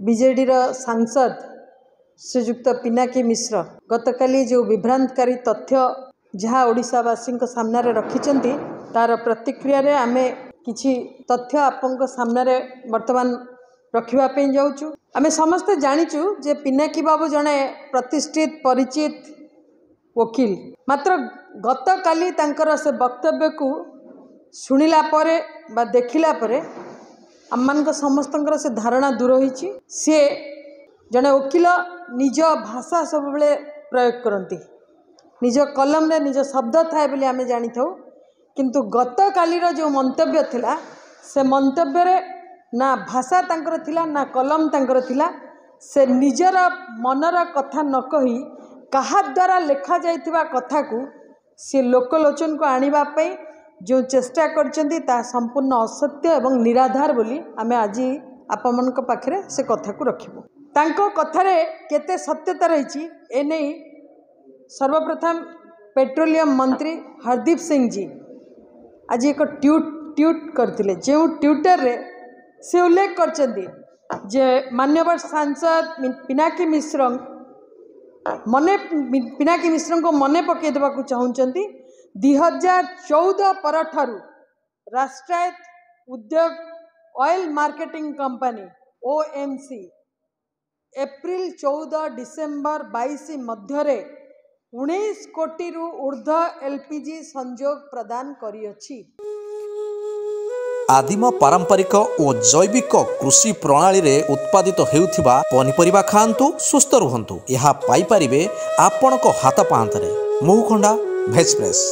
ବିଜେଡ଼ିର ସାଂସଦ ଶ୍ରୀଯୁକ୍ତ ପିନାକୀ ମିଶ୍ର ଗତକାଲି ଯେଉଁ ବିଭ୍ରାନ୍ତକାରୀ ତଥ୍ୟ ଯାହା ଓଡ଼ିଶାବାସୀଙ୍କ ସାମ୍ନାରେ ରଖିଛନ୍ତି, ତାର ପ୍ରତିକ୍ରିୟାରେ ଆମେ କିଛି ତଥ୍ୟ ଆପଣଙ୍କ ସାମ୍ନାରେ ବର୍ତ୍ତମାନ ରଖିବା ପାଇଁ ଯାଉଛୁ। ଆମେ ସମସ୍ତେ ଜାଣିଛୁ ଯେ ପିନାକୀ ବାବୁ ଜଣେ ପ୍ରତିଷ୍ଠିତ ପରିଚିତ ଓକିଲ। ମାତ୍ର ଗତକାଲି ତାଙ୍କର ସେ ବକ୍ତବ୍ୟକୁ ଶୁଣିଲା ପରେ ବା ଦେଖିଲା ପରେ ଆମମାନଙ୍କ ସମସ୍ତଙ୍କର ସେ ଧାରଣା ଦୂର ହୋଇଛି। ସିଏ ଜଣେ ଓକିଲ, ନିଜ ଭାଷା ସବୁବେଳେ ପ୍ରୟୋଗ କରନ୍ତି, ନିଜ କଲମରେ ନିଜ ଶବ୍ଦ ଥାଏ ବୋଲି ଆମେ ଜାଣିଥାଉ। କିନ୍ତୁ ଗତକାଲିର ଯେଉଁ ମନ୍ତବ୍ୟ ଥିଲା, ସେ ମନ୍ତବ୍ୟରେ ନା ଭାଷା ତାଙ୍କର ଥିଲା ନା କଲମ ତାଙ୍କର ଥିଲା। ସେ ନିଜର ମନର କଥା ନ କହି କାହା ଦ୍ୱାରା ଲେଖାଯାଇଥିବା କଥାକୁ ସେ ଲୋକଲୋଚନକୁ ଆଣିବା ପାଇଁ ଯେଉଁ ଚେଷ୍ଟା କରିଛନ୍ତି, ତାହା ସମ୍ପୂର୍ଣ୍ଣ ଅସତ୍ୟ ଏବଂ ନିରାଧାର ବୋଲି ଆମେ ଆଜି ଆପଣମାନଙ୍କ ପାଖରେ ସେ କଥାକୁ ରଖିବୁ। ତାଙ୍କ କଥାରେ କେତେ ସତ୍ୟତା ରହିଛି, ଏନେଇ ସର୍ବପ୍ରଥମ ପେଟ୍ରୋଲିୟମ ମନ୍ତ୍ରୀ ହରଦୀପ ସିଂଜୀ ଆଜି ଏକ ଟ୍ୱିଟ୍ କରିଥିଲେ, ଯେଉଁ ଟ୍ୱିଟରରେ ସେ ଉଲ୍ଲେଖ କରିଛନ୍ତି ଯେ ମାନ୍ୟବର ସାଂସଦ ପିନାକୀ ମିଶ୍ର ମନେ ପିନାକୀ ମିଶ୍ରଙ୍କୁ ମନେ ପକାଇ ଦେବାକୁ ଚାହୁଁଛନ୍ତି, 2014 ପରଠାରୁ ରାଷ୍ଟ୍ରାୟତ୍ତ ଉଦ୍ୟୋଗ oil marketing company OMC April 14 December 22 ମଧ୍ୟରେ 19 କୋଟିରୁ ଉର୍ଦ୍ଧ୍ୱ ଏଲ୍ପିଜି ସଂଯୋଗ ପ୍ରଦାନ କରିଅଛି। ଆଦିମ ପାରମ୍ପରିକ ଓ ଜୈବିକ କୃଷି ପ୍ରଣାଳୀରେ ଉତ୍ପାଦିତ ହେଉଥିବା ପନିପରିବା ଖାଆନ୍ତୁ, ସୁସ୍ଥ ରୁହନ୍ତୁ। ଏହା ପାଇପାରିବେ ଆପଣଙ୍କ ହାତ ପାହାନ୍ତାରେ। Mahukhanda veg press.